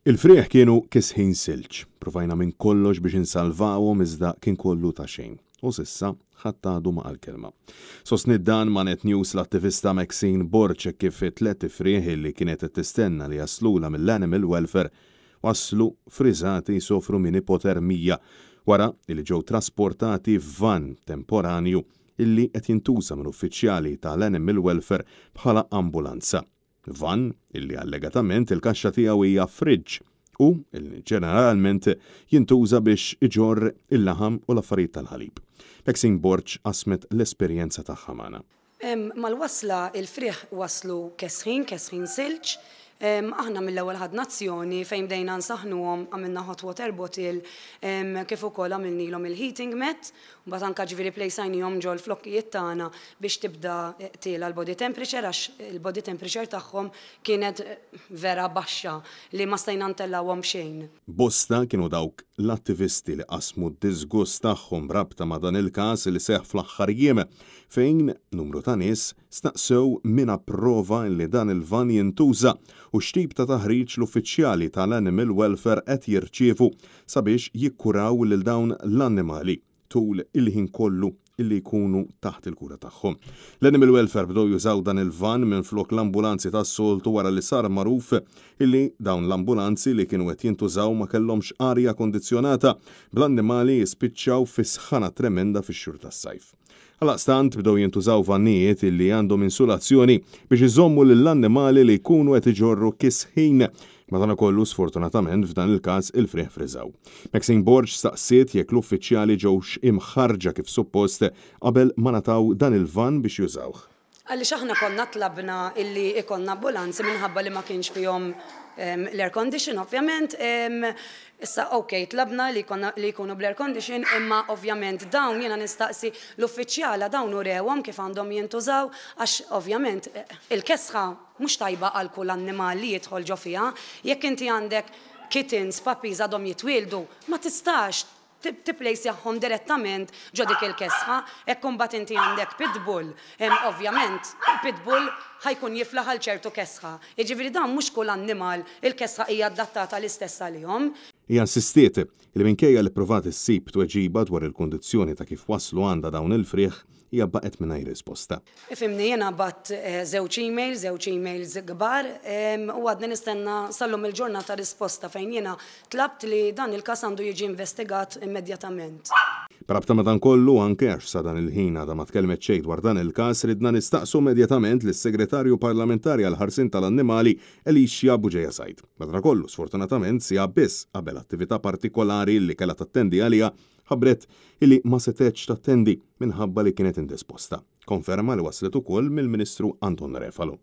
Il-frieħ kienu kisħin silġ. Pruvajna minn kollox biex insalvawhom iżda kien kollu ta' xejn. U s'issa ħadd għadu ma qal kelma. Sostniet dan ma' Net News l-attivista Maxine Borg hekk kif it-tlett ifrieħ li kienet qed tistenna li jaslulha mill-Animal Welfare waslu friżati jsofru minn ipotermija wara li ġew trasportati f'vann temporanju illi qed jintuża minn uffiċjali tal-Animal Welfare bħala ambulanza. Vann illi allegatament il-kaxxa tiegħu hija fridge u illi ġeneralment jintuża biex iġorr il-laħam u l-affarijiet tal-ħalib. Maxine Borg qasmet l-esperjenza tagħha magħna. Mal-wasla il-frieħ waslu kesħin, kesħin silġ. Aħna mill-ewwel ħadna azzjoni fejn bdejna nsaħħnuhom, għamilna hot water bottle kif ukoll għamilnilhom il-heating mat. Mbagħad anke ġifieri plejsajnihom ġol-flokkijiet tagħna biex tibda tiela' l-body temperature għax il-body temperature tagħhom kienet vera baxxa li ma stajna ntellgħuhom b'xejn. Bosta kienu dawk l-attivisti li qasmu d-diżgust tagħhom b'rabta ma' dan il-każ li seħħ fl-aħħar jiem fejn numru ta' nies staqsew min approva li dan il-vann jintuża u x'tip ta' taħriġ l-uffiċjali tal-Animal Welfare qed jirċievu sabiex jikkuraw lil dawn l-annimali tul il-ħin kollu li jkunu taħt il-kura tagħhom. L-Animal Welfare bdew jużaw dan il-vann minflok l-ambulanzi tas-soltu wara li sar magħruf illi dawn l-ambulanzi li kienu qed jintużaw ma kellhomx arja kondizzjonata, bl-annimali jispiċċaw fi sħana tremenda fix-xhur tas-sajf. Għaldaqstant bdew jintużaw vannijiet li għandhom insulazzjoni biex iżommu lill-annimali li jkunu qed iġorru kisħin. Madankollu, sfortunatament f'dan il-każ il-frieħ friżaw. Maxine Borg staqsiet jekk l-uffiċjali ġewx imħarrġa kif suppost qabel ma ngħataw dan il-vann biex jużawh. Għaliex aħna konna tlabna illi ikollna ambulanzi minħabba li ma kienx fihom l-air condition ovvjament. Issa ok, tlabna li jkollna li jkunu bl-air condition imma ovvjament dawn jiena nistaqsi l-uffiċjala dawn urewhom kif għandhom jintużaw għax ovvjament il-kesħa mhux tajba għal kull annimal li jidħol ġo fiha. Jekk inti għandek kittens, puppies għadhom jitwieldu, ma tistax tipplejsjahom direttament ġo dik il-kesħa, hekk imbagħad inti għandek pitbull, ovvjament il-pitbull ħa jkun jiflaħ għal ċertu kesħa. Jiġifieri dan mhux kull annimal il-kesħa hija adattata l-istess għalihom. Hija insistiet li minkejja li ppruvat issib tweġiba dwar il-kundizzjoni ta' kif waslu għandha dawn il-frieħ, hija baqgħet mingħajr risposta. Ifhimni, jiena bgħatt żewġ emails, żewġ emails kbar, u għadni nistenna sal-lum il-ġurnata risposta fejn jiena tlabt li dan il-każ għandu jiġi investigat immedjatament. B'rabta ma' dan kollu, anke għax sa dan il-ħin għadha ma tkellmet xejn dwar dan il-każ, ridna nistaqsu immedjatament lis-Segretarju Parlamentari għall-Ħarsien tal-Annimali, Alicia Bugeja Said. Madankollu, sfortunatament, siegħa biss qabel attività partikolari li kellha tattendi għaliha, ħabbret illi ma setgħetx tattendi minħabba li kienet indisposta. Konferma li waslet ukoll mill-Ministru Anton Refalo.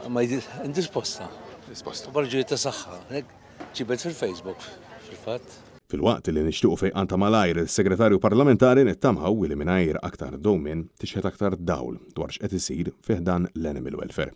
Ma indisposta. Indisposta. B'raġuni ta' saħħa. Ġibet fil-Facebook fil-fatt. Filwaqt li nixtiequ fejqan ta' malajr lis-Segretarju Parlamentari nittamaw li mingħajr aktar dewmien tixħet aktar dawl dwar x'qed isir fi ħdan l-Animal Welfare.